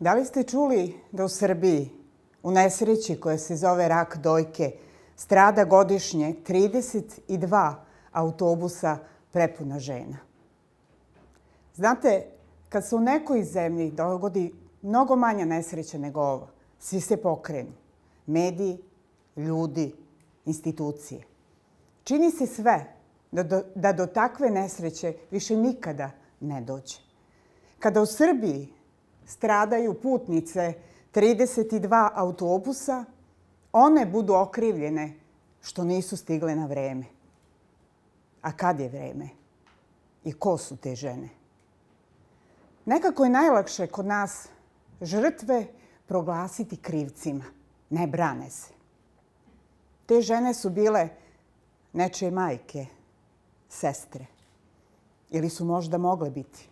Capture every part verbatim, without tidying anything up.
Da li ste čuli da u Srbiji, u nesreći koja se zove rak dojke, strada godišnje trideset dva autobusa prepuna žena? Znate, kad se u nekoj zemlji dogodi mnogo manja nesreća nego ova, svi se pokrenu. Mediji, ljudi, institucije. Čini se sve da do, da do takve nesreće više nikada ne dođe. Kada u Srbiji stradaju putnice trideset dva autobusa, one budu okrivljene što nisu stigle na vreme. A kad je vreme? I ko su te žene? Nekako je najlakše kod nas žrtve proglasiti krivcima. Ne brane se. Te žene su bile nečije majke, sestre. Ili su možda mogle biti.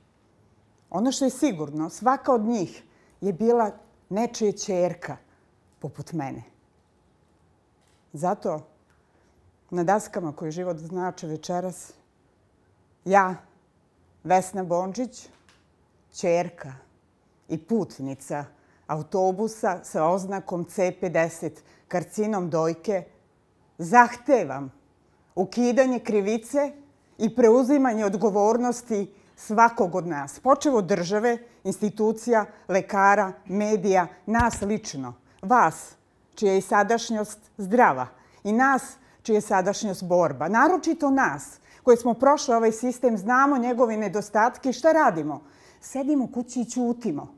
Ono što je sigurno, svaka od njih je bila nečija ćerka, poput mene. Zato, na daskama koje život znače večeras, ja, Vesna Bondžić, ćerka i putnica autobusa sa oznakom C pedeset, karcinom dojke, zahtevam ukidanje krivice i preuzimanje odgovornosti svakog od nas, počev od države, institucija, lekara, medija, nas lično, vas, čija je sadašnjost zdrava i nas, čija je sadašnjost borba. Naročito nas, koji smo prošli ovaj sistem, znamo njegove nedostatke i šta radimo? Sedimo kući i ćutimo.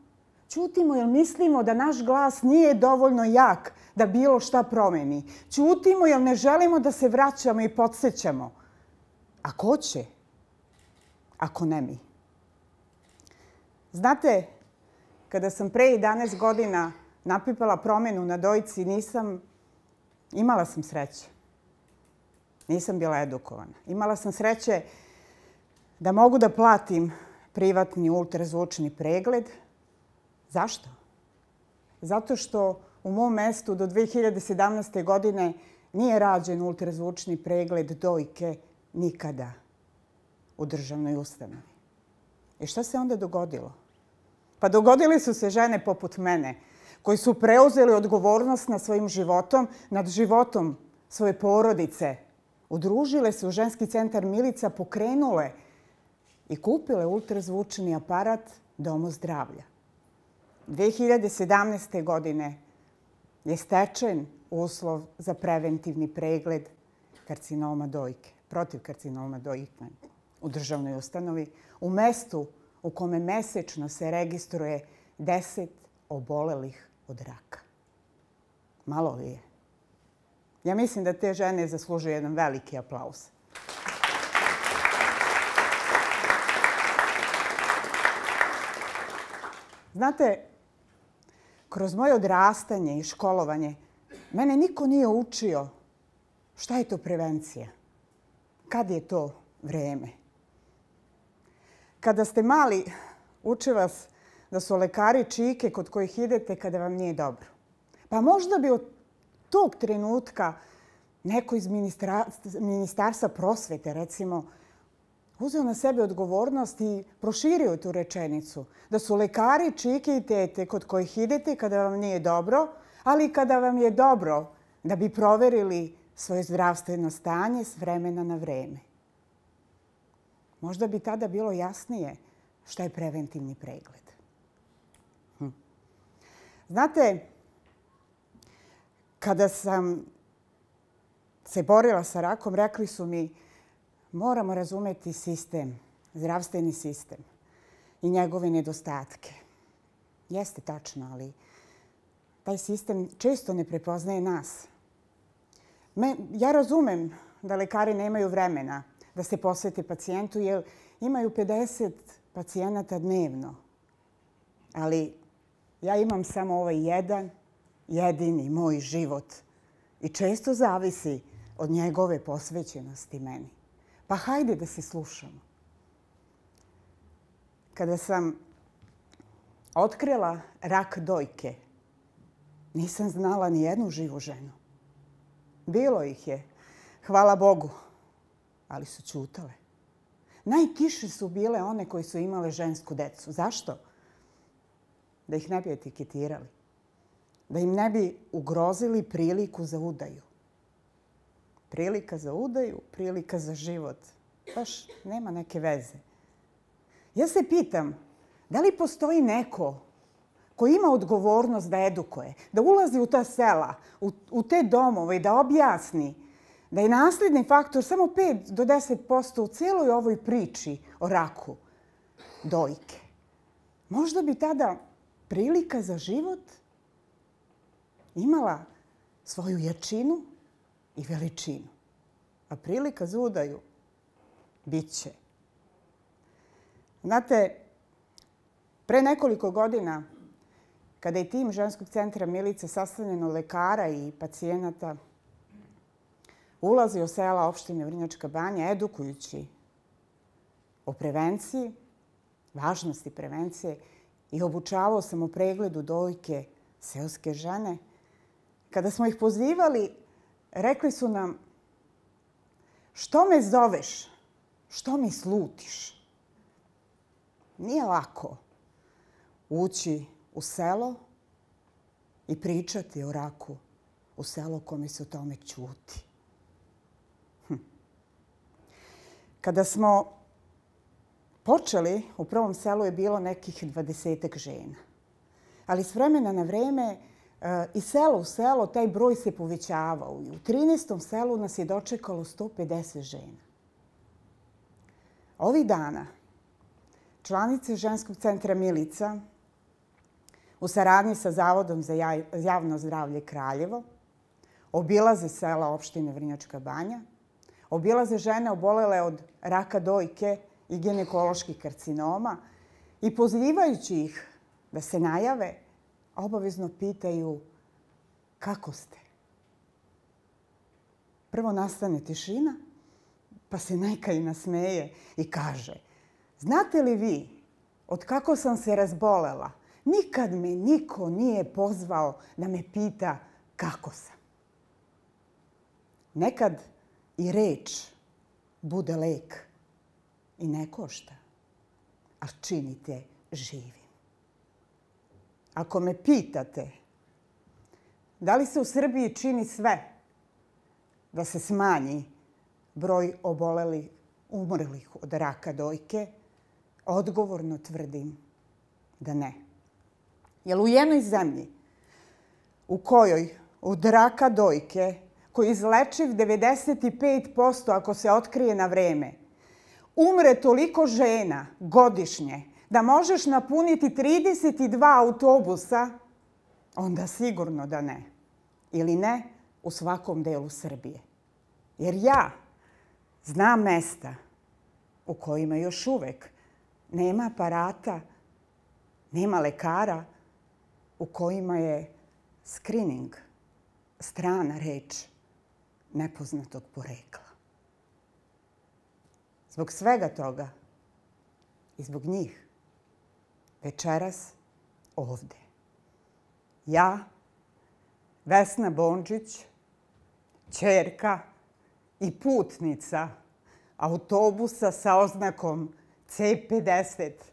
Ćutimo jer mislimo da naš glas nije dovoljno jak da bilo šta promeni. Ćutimo jer ne želimo da se vraćamo i podsjećamo. A ko će? Ako ne mi. Znate, kada sam pre jedanaest godina napipala promenu na dojci, nisam, imala sam sreće. Nisam bila edukovana. Imala sam sreće da mogu da platim privatni ultrazvučni pregled. Zašto? Zato što u mom mestu do dve hiljade sedamnaeste. godine nije rađen ultrazvučni pregled dojke nikada u državnoj ustanovi. I šta se onda dogodilo? Pa dogodile su se žene poput mene, koji su preuzeli odgovornost nad svojim životom, nad životom svoje porodice, udružile se u ženski centar Milica, pokrenule i kupile ultrazvučni aparat Domu zdravlja. dve hiljade sedamnaeste. godine je stečen uslov za preventivni pregled karcinoma dojke, protiv karcinoma dojke u državnoj ustanovi, u mestu u kome mesečno se registruje deset obolelih od raka. Malo li je? Ja mislim da te žene zaslužuju jedan veliki aplauz. Znate, kroz moje odrastanje i školovanje, mene niko nije učio šta je to prevencija. Kad je to vreme? Kada ste mali, uče vas da su lekari čike kod kojih idete kada vam nije dobro. Pa možda bi od tog trenutka neko iz Ministarstva prosvete, recimo, uzeo na sebe odgovornost i proširio tu rečenicu. Da su lekari čike i tete kod kojih idete kada vam nije dobro, ali i kada vam je dobro, da bi proverili svoje zdravstveno stanje s vremena na vreme. Možda bi tada bilo jasnije šta je preventivni pregled. Hm. Znate, kada sam se borila sa rakom, rekli su mi moramo razumeti sistem, zdravstveni sistem i njegove nedostatke. Jeste tačno, ali taj sistem često ne prepoznaje nas. Me, ja razumem da lekari nemaju vremena da se posvete pacijentu, jer imaju pedeset pacijenata dnevno. Ali ja imam samo ovaj jedan, jedini moj život i često zavisi od njegove posvećenosti meni. Pa hajde da se slušamo. Kada sam otkrila rak dojke, nisam znala ni jednu živu ženu. Bilo ih je, hvala Bogu, ali su ćutale. Najtiše su bile one koji su imale žensku decu. Zašto? da ih ne bi etiketirali, da im ne bi ugrozili priliku za udaju. Prilika za udaju, prilika za život. Baš nema neke veze. Ja se pitam, da li postoji neko koji ima odgovornost da edukuje, da ulazi u ta sela, u, u te domove i da objasni da je nasledni faktor samo pet do deset posto u cijeloj ovoj priči o raku dojke. Možda bi tada prilika za život imala svoju jačinu i veličinu. A prilika za udaju bit će. Znate, pre nekoliko godina, kada je tim ženskog centra Milice sastavljen od lekara i pacijenata, ulazi u sela opštine Vrnjačka Banja, edukujući o prevenciji, važnosti prevencije i obučavao sam o pregledu dojke seoske žene. Kada smo ih pozivali, rekli su nam: što me zoveš, što mi slutiš? Nije lako ući u selo i pričati o raku u selo kome se o tome ćuti. Hm. Kada smo počeli, u prvom selu je bilo nekih dvadesetak žena. Ali s vremena na vreme i selo u selo taj broj se povećavao. I u trinaestom selu nas je dočekalo sto pedeset žena. Ovih dana članice ženskog centra Milica u saradnji sa Zavodom za javno zdravlje Kraljevo obilaze sela opštine Vrnjačka Banja, obilaze žene obolele od raka dojke i ginekoloških karcinoma i pozivajući ih da se najave, obavezno pitaju: kako ste? Prvo nastane tišina, pa se neka i nasmeje i kaže: znate li vi, od kako sam se razbolela, nikad me niko nije pozvao da me pita kako sam. Nekad i reč bude lek i ne košta, a činite živim. Ako me pitate da li se u Srbiji čini sve da se smanji broj obolelih, umrlih od raka dojke, odgovorno tvrdim da ne. Jer u jednoj zemlji u kojoj od raka dojke, koji je izlečiv devedeset pet posto ako se otkrije na vreme, umre toliko žena godišnje da možeš napuniti trideset dva autobusa, onda sigurno da ne. Ili ne u svakom delu Srbije. Jer ja znam mesta u kojima još uvek nema aparata, nema lekara, u kojima je skrining strana reč nepoznatog porekla. Zbog svega toga i zbog njih večeras ovde ja, Vesna Bondžić, ćerka i putnica autobusa sa oznakom C pedeset,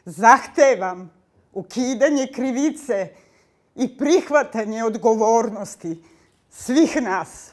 zahtevam ukidanje krivice i prihvatanje odgovornosti svih nas